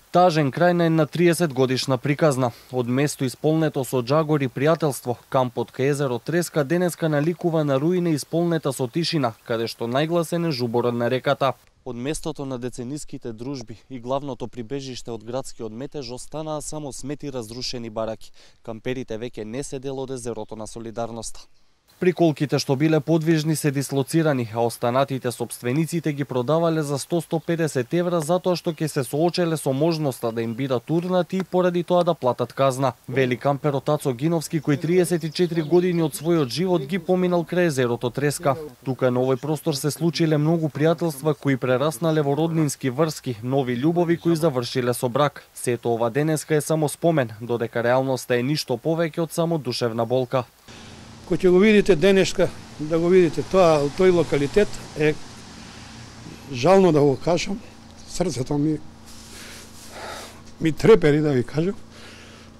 Тажен крај на една 30 годишна приказна. Од место исполнето со џагор и пријателство, кампот кај езеро Треска денеска наликува на руина исполнета со тишина, каде што најгласен е жуборот на реката. Од местото на децениските дружби и главното прибежиште од градскиот метеж останаа само смети разрушени бараки. Камперите веќе не се дел од езерото на солидарноста. Приколките што биле подвижни се дислоцирани, а останатите собствениците ги продавале за 100-150 евра затоа што ќе се соочеле со можноста да им бидат турнати и поради тоа да платат казна. Вели камперот Ацо Гиновски, кој 34 години од својот живот ги поминал крај езерото Треска. Тука на овој простор се случиле многу пријателства кои прераснале во роднински врски, нови љубови кои завршиле со брак. Сето ова денеска е само спомен, додека реалноста е ништо повеќе од само душевна болка. Кој ќе го видите денеска, да го видите тој локалитет е жално да го кажам, срцето ми трепери да ви кажам.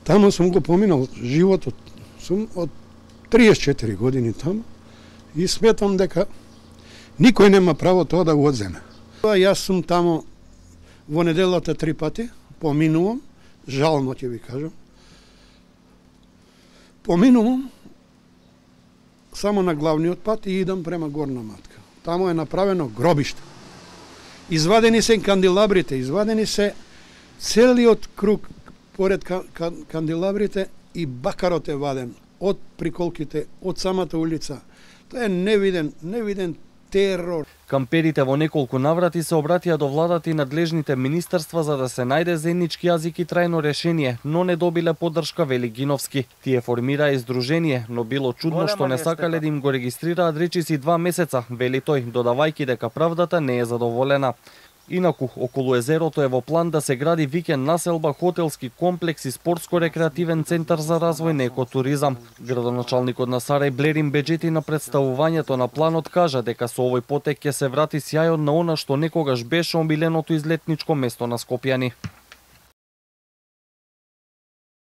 Таму сум го поминал животот, сум од 34 години таму и сметам дека никој нема право тоа да го одземе. Јас сум таму во неделата 3 пати, поминувам, жално ќе ви кажам. Поминувам само на главниот пат и идам према Горна Матка. Таму е направено гробиште. Извадени се канделабрите, извадени се целиот круг поред канделабрите и бакарот е ваден од приколките, од самата улица. Тоа е невиден терор. Камперите во неколку наврати се обратија до владата и надлежните министерства за да се најде заеднички јазик и трајно решение, но не добиле поддршка, вели Гиновски. Тие формираа издружение, но било чудно што не сакале да им го регистрираат речиси 2 месеца, вели тој, додавајќи дека правдата не е задоволена. Инаку, околу езерото е во план да се гради викенд населба, хотелски комплекс и спортско-рекреативен центар за развој на екотуризам. Градоначалникот на Сарај Блерин Беџети на представувањето на планот кажа дека со овој потек ќе се врати сјајот на она што некогаш беше омиленото излетничко место на Скопјани.